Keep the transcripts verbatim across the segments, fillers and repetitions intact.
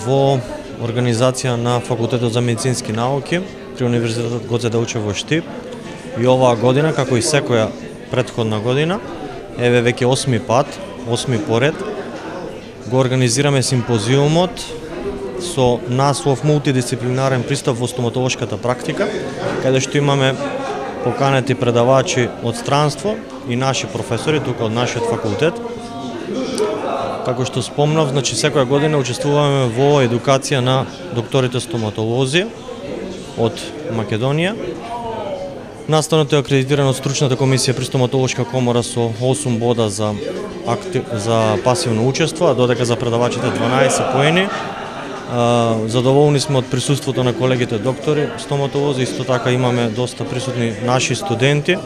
во организација на Факултетот за медицински науки при Универзитетот Гоце Делчев во Штип. И оваа година, како и секоја претходна година, еве веќе осми пат, осми поред, го организираме симпозиумот со наслов мултидисциплинарен пристап во стоматолошката практика, каде што имаме поканети предавачи од странство и наши професори тука од нашиот факултет. Како што спомнав, значи секоја година учествуваме во едукација на докторите стоматолози од Македонија. Настанот е акредитиран од стручната комисија при стоматолошка комора со осум бода за актив, за пасивно учество, а додека за предавачите дванаесет поени. Задоволни сме од присуството на колегите доктори стоматолози, исто така имаме доста присутни наши студенти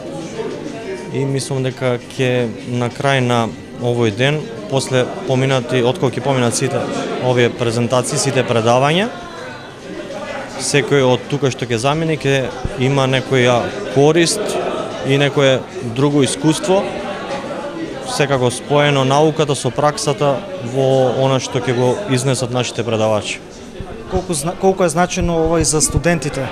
и мислам дека ќе на крај на овој ден, после поминати, откако ќе поминат сите овие презентации, сите предавања, секој од тука што ќе замени ќе има некоја корист и некое друго искуство, секако споено науката со праксата во она што ќе го изнесат нашите предавачи. Колку, колку е значено ова и за студентите?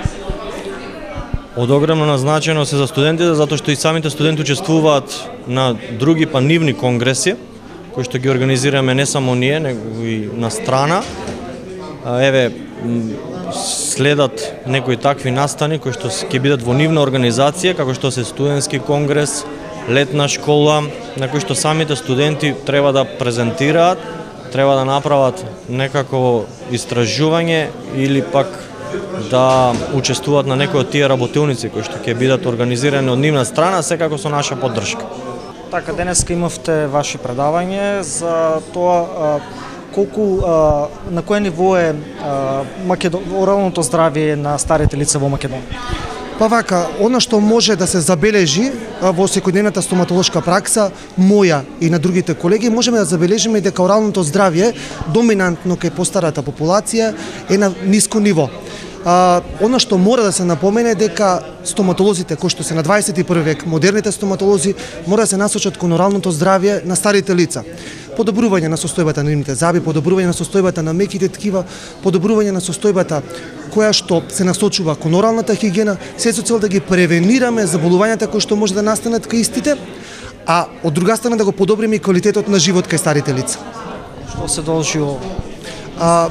Од огромна значеност е за студентите, затоа што и самите студенти учествуваат на други па нивни конгреси, кои што ги организираме не само ние, него и на страна. Еве, следат некои такви настани кои што ќе бидат во нивна организација, како што се студентски конгрес, летна школа, на кои што самите студенти треба да презентираат, треба да направат некако истражување или пак да учествуваат на некои од тие работилници кои што ќе бидат организирани од нивна страна, секако со наша поддршка. Така, денеска имавте ваши предавање за тоа колку на кое ниво е Македон... оралното здравје на старите лица во Македонија? Па вака, она што може да се забележи во секојдневната стоматолошка пракса, моја и на другите колеги, можеме да забележиме дека оралното здравје доминантно кај постарата популација е на ниско ниво. А, она што мора да се напомене дека стоматолозите кои што се на дваесет и први век, модерните стоматолози, мора да се насочат кон оралното здравје на старите лица. Подобрување на состојбата на нивните заби, подобрување на состојбата на меките ткива, подобрување на состојбата која што се насочува кон оралната хигиена, се со цел да ги превенираме заболувањата кои што може да настанат кај истите, а од друга страна да го подобриме и квалитетот на живот кај старите лица. Што се должи ово? А,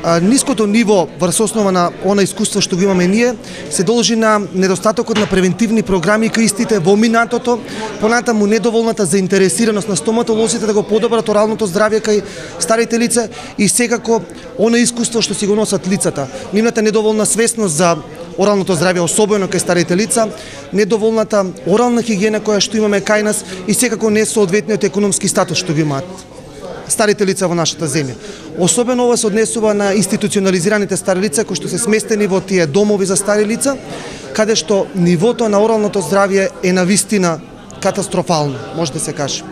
а, ниското ниво врз основа на она искуство што го имаме ние се должи на недостатокот на превентивни програми кај истите во минатото, понатаму недоволната заинтересираност на стоматолозите да го подобрат оралното здравје кај старите лица и секако она искуство што си го носат лицата, нивната недоволна свесност за оралното здравје, особено кај старите лица, недоволната орална хигиена која што имаме кај нас и секако несоодветниот економски статус што го имаат старите лица во нашата земја. Особено ова се однесува на институционализираните стари лица кои што се сместени во тие домови за стари лица, каде што нивото на оралното здравје е навистина катастрофално, може да се каже.